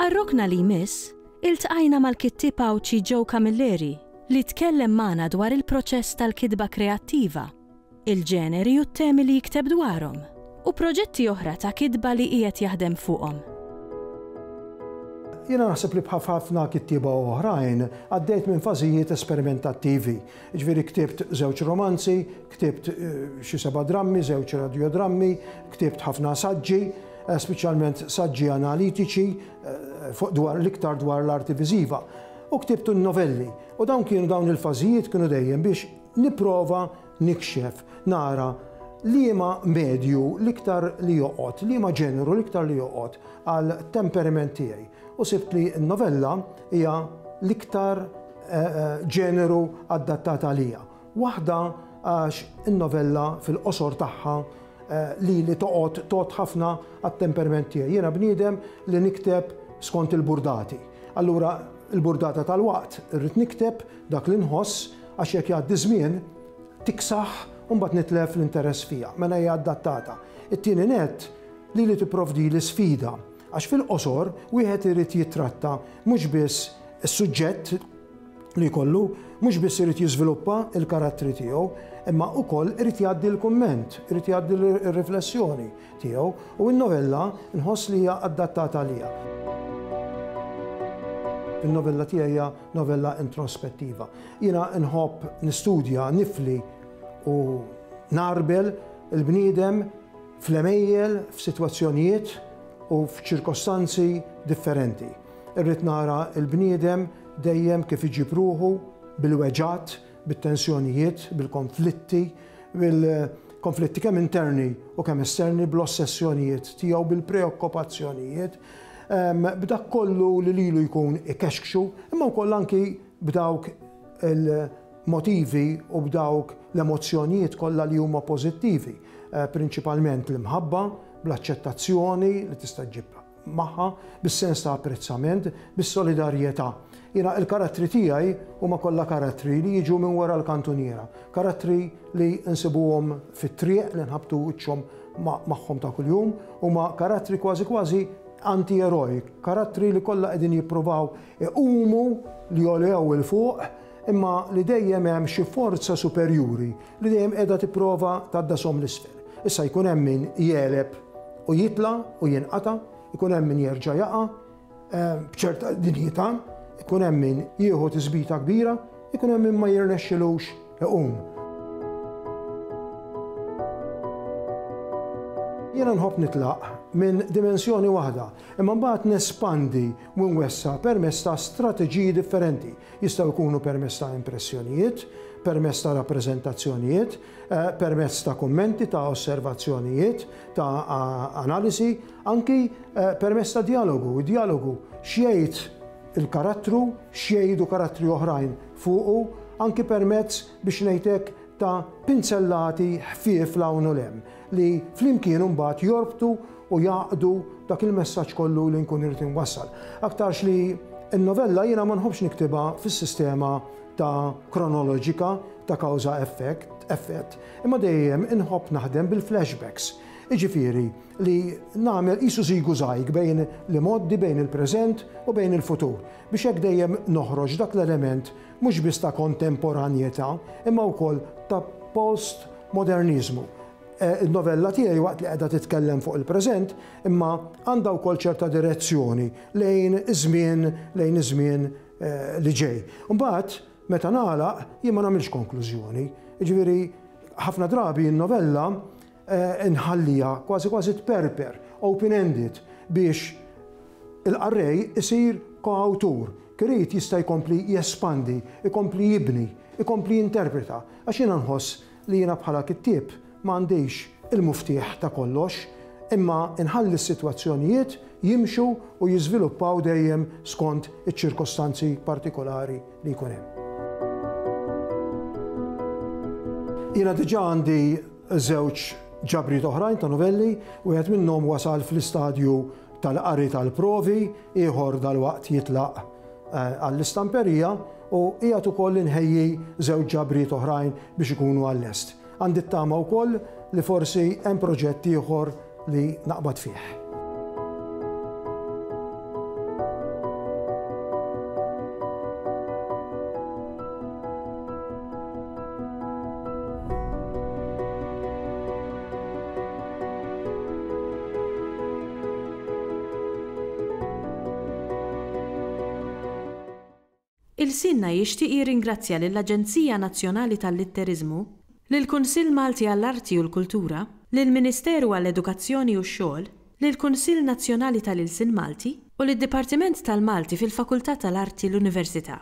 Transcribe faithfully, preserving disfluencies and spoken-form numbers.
Għar-rokna li jmiss, iltqajna mal-kittieb Għawdxi Joe Camilleri li tkellem magħna dwar il-proċess tal-kitba kreattiva, il-ġeneri u t-temi li jikteb dwarhom, u proġetti oħra ta' kitba li qiegħed jaħdem fuqhom. Jiena naħseb li bħal ħafna kittieba oħrajn għaddejt minn fażijiet esperimentattivi. Ġifieri ktibt żewġ romanzi, ktibt xi seba' drammi, żewġ radiodrammi, ktibt ħafna saġġi, speċjalment saġġi analitiċi fuq dwar l-iktar dwar l-arti viżiva. U ktibt novelli. U dawn kienu dawn il-fażijiet kienu dejjem biex nipprova nikxef, nara liema medju l-iktar li joqgħod, liema ġeneru l-iktar li joqgħod għal temperament tiegħi. U sibt li n-novella hija l-iktar ġeneru adattat għalija. Waħda għax in-novella fil-qosor tagħha li li toqgħod toqgħod ħafna għat-temperament tiegħi. Jiena bniedem li nikteb skont il-burdati. Allura il-burdata tal-waqt irrid nikteb dak li nħoss għax jekk jgħaddi żmien tiksaħ u mbagħad nitlef l-interess fija, mela hija adattata. It-tieni nett li li tipprovdi l-isfida għax fil-qosor wieħed irid jitratta mhux biss is-suġġett li jkollu, mhux biss irid jiżviluppa l-karattri tiegħu, imma wkoll irid jgħaddi l-kumment, irid jgħaddi r-riflessjoni tiegħu u n-novella nħoss li hija adattata għalija. Il-novella tiegħi hija novella introspettiva. Jiena nħobb nistudja, nifli u narbel il-bniedem fl-emejjel, f'sitwazzjonijiet u f'ċirkostanzi differenti. Irrid nara l-bniedem dejjem kif iġib ruħu bil-weġgħat, bit-tensjonijiet, bil-konflitti, bil-konflitti kemm interni u kemm esterni, bl-ossessjonijiet tiegħu, bil-preokkupazzjonijiet, b'dak kollu li lilu jkun ikexkxu, imma wkoll anki b'dawk il-motivi u b'dawk l-emozzjonijiet kollha li huma pożittivi, prinċipalment l-imħabba, bl-aċċettazzjoni li tista' ġġib magħha, bis-sens ta' apprezzament, bis-solidarjetà. Jiena il-karattri tiegħi huma kollha karattri li jiġu minn wara l-kantuniera, karattri li nsibuhom fit-triq li nħabtu wiċċhom magħhom ta' kuljum, huma karattri kważi kważi anti-eroj, karattri li kollha qegħdin jippruvaw iqumu li jolew il fuq, imma li dejjem hemm xi forza superjuri li dejjem qiegħda tipprova tgħaddasom l-isfel. Issa jkun hemm min jeleb u jitla u jinqata', ikun hemm min jerġa' jaqa' b'ċerta dinjità, ikun hemm min jieħu tisbita kbira, ikun hemm min ma jirnexxilux iqum. Jiena nħobb nitlaq minn dimensjoni waħda, imma mbagħad nespandi u nwessa' permezz ta' strateġiji differenti. Jistgħu jkunu permezz ta' impressjonijiet, permezz ta' rappreżentazzjonijiet, permezz ta' kummenti, ta' osservazzjonijiet, ta' analisi, anki permezz ta' dialogu. Dialogu x'jgħid il-karattru, x'jgħidu karattri oħrajn fuqu, anki permezz biex ngħidlek ta' pinzellati ħfief 'l hawn u 'l hemm li flimkien imbagħad jorbtu u jaqdu dak il-messaġġ kollu li nkun irid inwassal. Aktarx li n-novella jiena ma nħobbx niktibha fis-sistema ta' kronoloġika ta' kawża effett, effett, imma dejjem inħobb naħdem bil-flashbacks. Jiġifieri li nagħmel qisu żigu żajg bejn l-imgħoddi, bejn il-preżent u bejn il-futur, biex hekk dejjem noħroġ dak l-element mhux biss ta' kontemporanjetà, imma wkoll ta' postmodernizmu. Il-novella tiegħi waqt li qiegħda titkellem fuq il-preżent, imma għandha wkoll ċerta direzzjoni lejn iż-żmien, lejn iż-żmien li ġej. Imbagħad meta nagħlaq jien ma nagħmilx konklużjoni. Jiġifieri ħafna drabi n-novella nħallija kważi kważi tperper, open-ended, biex il-qarrej isir koawtur. Kirid jista' jkompli jespandi, ikompli jibni, ikompli jinterpreta. Għax jiena nħoss li jiena bħala kittieb m'għandix il-muftieħ ta' kollox, imma nħalli s-sitwazzjonijiet jimxu u jiżviluppaw dejjem skont iċ-ċirkostanzi partikolari li jkun hemm. Jiena diġà għandi żewġ ġabriet oħrajn ta' novelli, wieħed minnhom wasal fl-istadju tal-qari tal-provi, ieħor dalwaqt jitlaq eh, għall-istamperija u qiegħed ukoll inħejji żewġ ġabriet oħrajn biex ikunu għal-lest. Għandi t-tama wkoll li forsi hemm proġett ieħor li naqbad fih. Ilsienna jixtieq jirringrazzja lill-Aġenzija Nazzjonali tal-Litteriżmu, lill-Kunsill Malti għall-Arti u l-Kultura, lill-Ministeru għall-Edukazzjoni u x-Xogħol, lill-Kunsill Nazzjonali tal-Ilsien Malti u lid-Dipartiment tal-Malti fil-Fakultà tal-Arti l-Università.